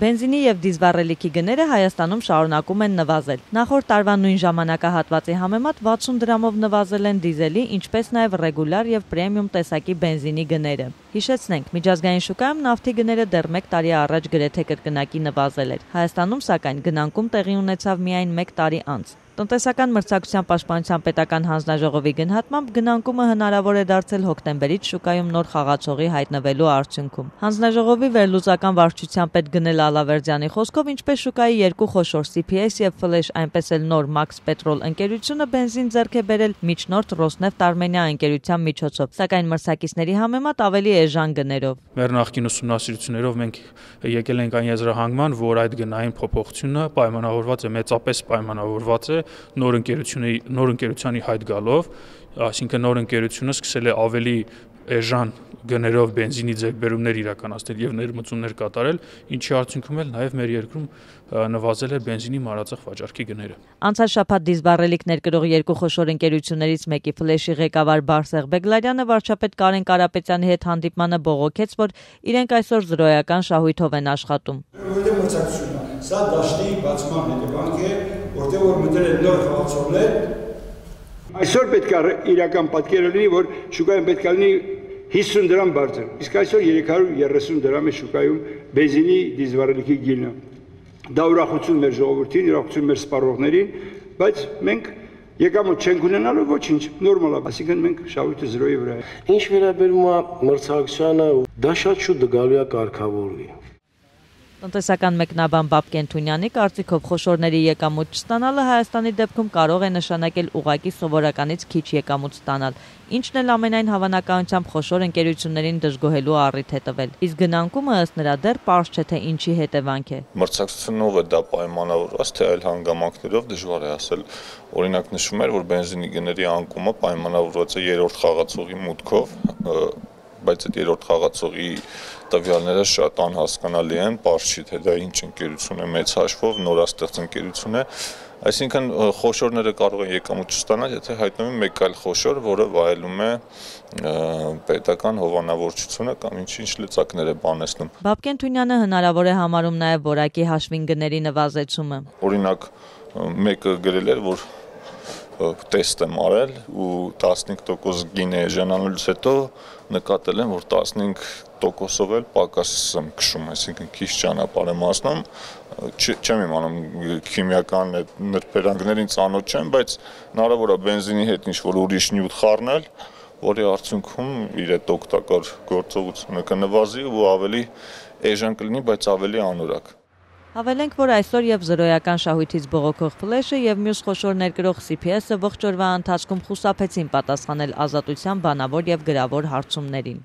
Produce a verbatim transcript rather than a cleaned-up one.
Բենզինի և դիզվառելիքի գները Հայաստանում շարունակում են նվազել։ Նախորդ տարվա նույն ժամանակահատվածի համեմատ վաթսուն դրամով նվազել են դիզելի, ինչպես նաև ռեգուլար և պրեմիում տեսակի բենզինի գները։ Հիշեցնենք, միջազգային շուկայում նավթի գները դեռ մեկ տարի առաջ գրեթե կրկնակի նվազել էր։ Հայաստանում, սակայն, գնանկում տեղի ունեցավ միայն մեկ տարի անց։ Տնտեսական մրցակցության պաշտպանության պետական հանձնաժողովի գնահատմամբ գնանկումը հնարավոր է դարձել հոկտեմբերից շուկայում նոր խաղացողի հայտնվելու արդյունքում։ Հանձնաժողովի վերլուծական վարչության պետ Գնել Ալավերդյանի խոսքով, ինչպես շուկայի երկու խոշոր C P S և Flash, այնպես էլ նոր Max Petrol ընկերությունը բենզին ձեռք է բերել միջնորդ Rosneft Armenia ընկերության միջոցով, սակայն մրցակիցների համեմատ ավելի էժան գներով։ Մեր նախկին ուսումնասիրություններով մենք եկել ենք այն եզրահանգման, որ այդ գնային փոփոխությունը պայմանավորված է մեծապես պայմանավորված է նոր ընկերությունի նոր ընկերությանի հայտ գալով, այսինքն նոր ընկերությունը սկսել է ավելի էժան գներով բենզինի ձեռքբերումներ իրականացնել եւ ներմուծումներ կատարել, ինչի արդյունքում էլ նաեւ մեր երկրում նվազել է բենզինի մանրածախ վաճառքի գները։ Անցած շաբաթ դիզվառելիք ներկրող երկու խոշոր ընկերություններից մեկի Flash-ի ղեկավար Բարսեղ Բեգլարյանը վարչապետ Կարեն Կարապետյանի հետ հանդիպմանը բողոքեց, որ իրենք այսօր զրոյական շահույթով են աշխատում։ Որտեղ մրցակցություն է, սա դաշտի բացման հետևանք է, որտեղ որ մտել են նոր խաղացողներ։ Այսօր պետք է իրական պատկերը լինի, որ շուկայում պետք է լինի հիսուն դրամ բարձր, իսկ այսօր երեք հարյուր երեսուն դրամ է շուկայում բենզինի դիզվառելիքի գինը։ Դա ուրախություն մեր ժողովրդին, ուրախություն մեր սպառողներին, բայց մենք եկամուտ չենք ունենալու, ոչինչ, նորմալ է, այսինքն մենք շահույթը զրոյի վրա է։ Ինչ վերաբերում է մրցակցությանը, դա շատ շուտ գալու է կարգավորվի։ Տնտեսական մեկնաբան Բաբկեն Թունյանի կարծիքով խոշորների եկամուտ չստանալը Հայաստանի դեպքում կարող է նշանակել ուղղակի սովորականից քիչ եկամուտ ստանալ, ինչն էլ ամենայն հավանականությամբ խոշոր ընկերություններին դժգոհելու առիթ է տվել։ Իսկ գնանկումը ըստ նրա դեռ պարզ չէ, թե ինչի հետևանք է։ Մրցակցությունով է դա պայմանավորված, թե այլ հանգամանքներով դժվար է ասել։ Օրինակ նշվում էր, որ բենզինի գների անկումը պայմանավորված է երրորդ խաղացողի մուտքով, բայց այդ երրորդ խաղացողի տվյալները շատ անհասկանալի են, պարզ չի, թե դա ինչ ընկերություն է, մեծ հաշվով նորաստեղծ ընկերություն է, այսինքն խոշորները կարող են եկամուտ չստանալ, եթե հայտնվի մեկ այլ խոշոր, որը վայելում է պետական հովանավորչությունը կամ ինչ-ինչ լծակներ է բանեցնում։ Բաբկեն Թունյանը հնարավոր է համարում նաև որակի հաշվին գների նվազեցումը։ Օրինակ, մեկը գրել էր, որ տեստ եմ արել ու տասնհինգ տոկոս գին է էժանանալուց հետո նկատել եմ, որ տասնհինգ տոկոսով էլ պակաս եմ քշում, այսինքն քիչ ճանապարհ եմ անցնում, չեմ իմանում քիմիական նրբերանգներին ծանոթ չեմ, բայց հնարավոր է բենզինի հետ ինչ-որ ուրիշ նյութ խառնել, որի արդյունքում իր այդ օգտակար գործողությունը կնվազի ու ավելի էժան կլինի, բայց ավելի անորակ։ Հավելենք, որ այսօր և զրոյական շահույթից բողոքող Flash-ը և մյուս խոշոր ներկրող C P S-ը ողջ օրվա ընթացքում խուսափեցին պատասխանել Ազատության բանավոր և գրավոր հարցումներին։